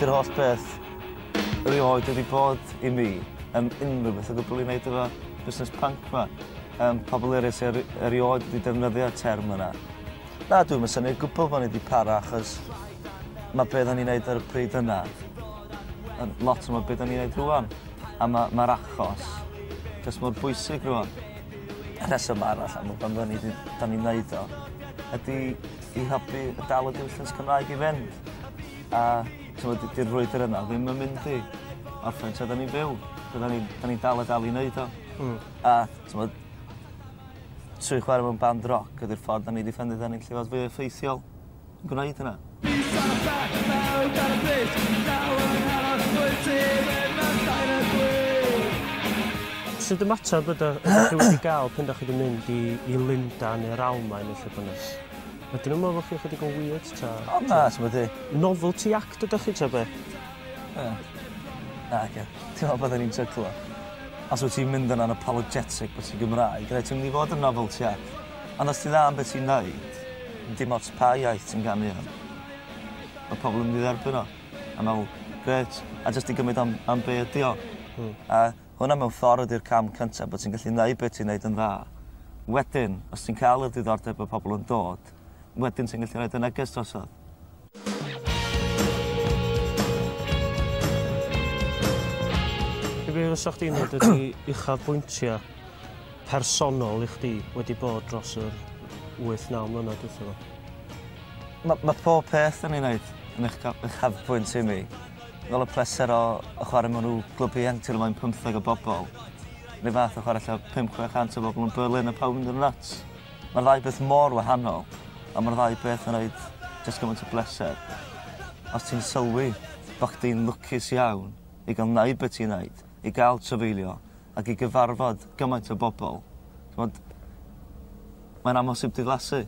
Dy'r holl beth erioed wedi bod i mi yn unrhyw beth o gwbl i wneud efo busnes punk 'ma. Pobl eraill sy erioed wedi defnyddio'r term yna. Na, dwi'm yn synnu o gwbl bod ni 'di para achos ma' be' 'ddan ni'n neud ar y pryd yna yn lot o be' 'dan ni'n neud rŵan. A ma' ma'r achos jyst mor bwysig rŵan. Y rheswm arall am pam 'dan ni 'di 'dan ni'n neud o ydi i helpu dal y diwylliant Cymraeg i fynd. A t'mod 'di'r frwydyr yna ddim yn mynd i orffen tra 'dan ni'n byw. So 'dan ni 'dan ni'n dal a dal i neud o. A t'mod trwy chware mewn band roc ydi'r ffordd 'dan ni 'di ffeindio 'dan ni'n gallu fod fwy effeithiol yn gwneud hynna. Sut ymateb ydych chi wedi gael pan 'dach chi 'di mynd i i Lundan neu'r Almaen neu lle bynnag? Ydyn nhw'n meddwl bo' chi ychydig yn weird ta? O na, t'mod 'di... Novelty act ydych chi ta be'? Ie. Nage. Ti'n me'wl bydden i'n jyglo? Os wyt ti'n mynd yna'n apologetic bo' ti'n Gymraeg reit ti'n mynd i fod yn novelty act. Ond os ti dda am be' ti'n neud, dim ots pa iaith ti'n ganu yn, ma' pobol yn mynd i dderbyn o. A me'wl, grêt, a jyst i gymryd am am be' ydi o. A hwnna mewn ffordd ydi'r cam cynta bo' ti'n gallu neud be' ti'n neud yn dda. Wedyn, os ti'n ca'l y diddordeb o pobol yn dod, wedyn ti'n gallu roid y neges drosodd. Be fysa chdi'n dweud ydi uchafbwyntia personol i chdi wedi bod dros yr 8-9 mlynedd dwytha 'ma? Ma' ma' pob peth 'dan ni'n neud yn uchafbwynt i mi. Fel y pleser o o chware mewn rw glwb ieuenctid o flaen pymtheg o bobol. 'Run fath o chware ella 5 600 o bobol yn Berlin a pawb mynd yn nuts. Ma'r ddau beth mor wahanol a ma'r ddau beth yn roid jyst gymaint o bleser. Os ti'n sylwi bo' chdi'n lwcus iawn i ga'l neud be' ti'n neud, i ga'l trafeilio ac i gyfarfod gymaint o bobol, t'mod mae'n amhosib diflasu.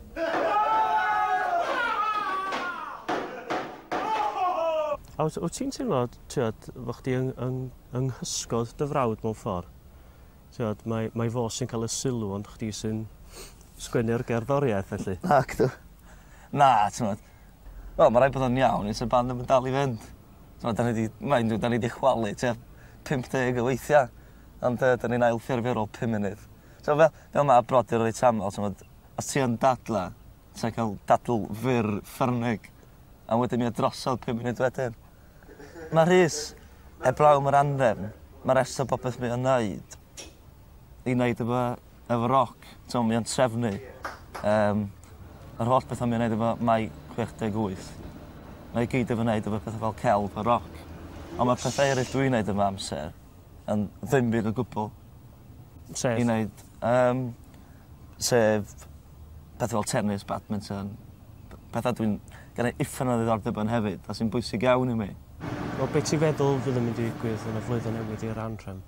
A wyt wyt ti'n teimlo t'wod fo' chdi yng yng yng nghysgod dy frawd mewn ffor? T'wod mae mae fo sy'n ca'l y sylw ond chdi sy'n sgwennu'r gerddoriaeth felly. Nacdw. Na t'mod wel ma' raid bod o'n iawn ne' sa'r band ddim yn dal i fynd. T'mod 'dan ni 'di mind you 'dan ni 'di chwalu tua 50 o weithia' ond yy 'dan ni'n ail ffurfio ar ôl pum munud. So fel fel ma' brodyr reit amal t'mod os ti yn dadla ti'n ca'l dadl fyr ffyrnig a wedyn mi o drosodd pum munud wedyn. Ma' Rhys heblaw am yr anrefn ma' rest o bopeth mae o'n neud i neud efo efo roc. T'mo' mae o'n trefnu yym yr holl betha mae o'n neud efo Mai 68. Mae i gyd efo neud efo petha fel celf a roc. On' ma' pethe eryll dwi'n neud yn fy amser yn ddim byd o gwbwl. Sef? I neud yym sef pethe fel tennis, badminton, petha dwi'n genna i uffern o ddiddordeb yn hefyd a sy'n bwysig iawn i mi. Wel be' ti'n feddwl fydd yn mynd i ddigwydd yn y flwyddyn newydd i'r Anhrefn?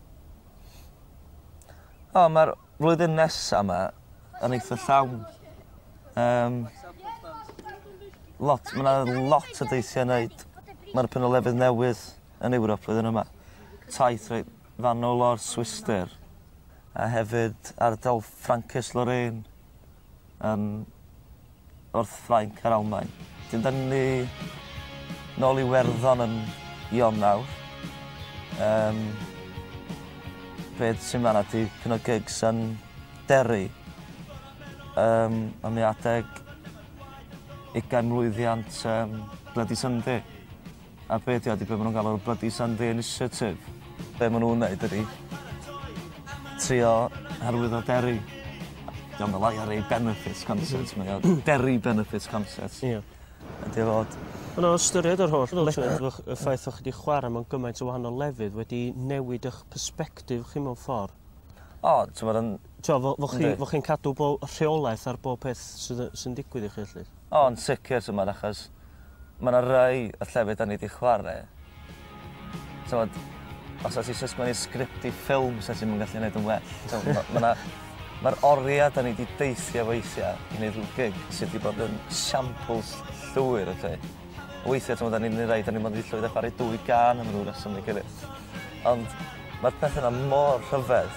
O ma'r flwyddyn nesa 'ma yn eitha llawn. Yym. Lot ma' 'na lot o deithio i neud. Ma' 'na pyn o lefydd newydd yn Ewrop flwyddyn yma. Taith reit fanwl o'r Swistir a hefyd ardal Ffrancus Lorraine yn wrth Ffrainc a'r Almaen. 'Dyn 'dan ni nôl i Werddon yn Ionawr. Yym. Be' sy'n fan 'na 'di pyn o gigs yn Derry. Yym a mi adeg ugain mlwyddiant yym Bloody Sunday. A be' 'di o 'di be' ma' nw'n galw Bloody Sunday Initiative. Be' ma' nw'n neud ydi trio arwyddo Derry. 'Di o'm fel IRA benefit concert mae o Derry benefit concert. Ie. Ydi o fod. Ond o ystyried yr holl y ffaith o' chi 'di chwara mewn gymaint o wahanol lefydd wedi newid 'ych persbectif chi mewn ffor. O t'mod yn... T'o' fo' fo' chi fo' chi'n cadw bo' rheolaeth ar bob peth sydd yy sy'n digwydd i chi 'lly. O yn sicir t'mod achos ma' 'na rai y llefydd 'dan ni 'di chware t'mod os o's isie sgwennu sgript i ffilm sa ti'm yn gallu neud yn well. T'mo' ma' 'na ma'r oria 'dan ni 'di deithio weithia' i neud rhyw gig sy 'di bod yn siampls llwyr felly. Weithia' t'mod 'dan ni'n neud rai 'dan ni mond 'di llwyddo chware dwy gân am ryw reswm neu gilydd. Ond ma'r pethe 'na mor rhyfedd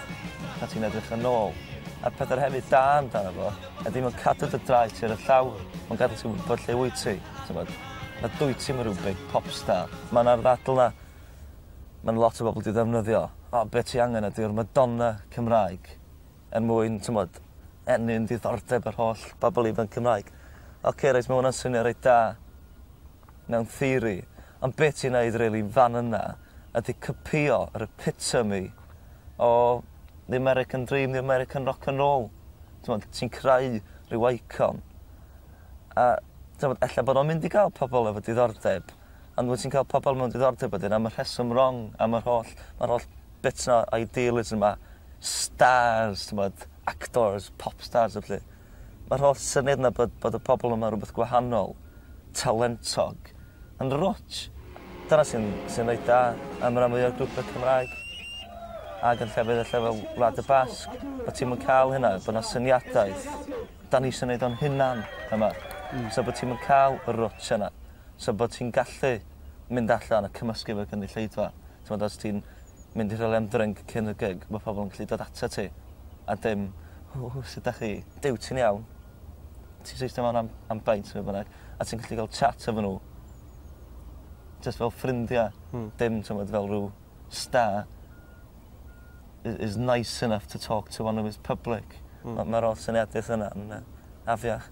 pan ti'n edrych yn ôl. A'r pethe hefyd da amdano fo ydi ma'n cadw dy draed ti ar y llawr, ma'n gadw ti wbod lle wyt ti, t'mod? Na dwyt ti'm yn rhyw big pop star. Ma' 'na'r ddadl 'na ma'n lot o bobl 'di ddefnyddio. O be' ti angen ydi'r Madonna Cymraeg er mwyn t'mod ennyn diddordeb yr holl bobl ifanc Cymraeg. Ocê reit ma' wnna'n swnio reit da mewn theori ond be' ti'n neud rili fan yna ydi copïo yr epitome o the American dream the American rock and roll. T'mod ti'n creu rhyw icon a t'mod ella bod o'n mynd i ga'l pobol efo diddordeb ond wyt ti'n ca'l pobol mewn diddordeb wedyn am y rheswm rong am yr holl ma'r holl bits 'na idealism 'ma stars t'mod actors pop stars a pethe. Ma'r holl syniad 'na bod bod y pobol yma rwbeth gwahanol talentog yn rwtsh. Dyna sy'n sy'n reit da am ran fwya o'r grwpe Cymraeg. Ag yn llefydd ella fel Wlad y Basg bo' ti'm yn ca'l hynna bo' 'na syniadaeth 'dan ni isio neud o'n hunan yma. So bo' ti'm yn ca'l y rwtsh yna. So bo' ti'n gallu mynd allan a cymysgu efo gynulleidfa. T'mod os ti'n mynd i rhywle am drink cyn y gig ma' pobol yn gallu dod atat ti a dim o sut 'dach chi? Duw ti'n iawn. Ti'n eistedd mewn am beint ne' bynnag a ti'n gallu ga'l chat efo n'w jyst fel ffrindia. Dim t'mod fel rhyw star is nice enough to talk to one of his public. Ma'r holl syniadaeth yna yn afiach.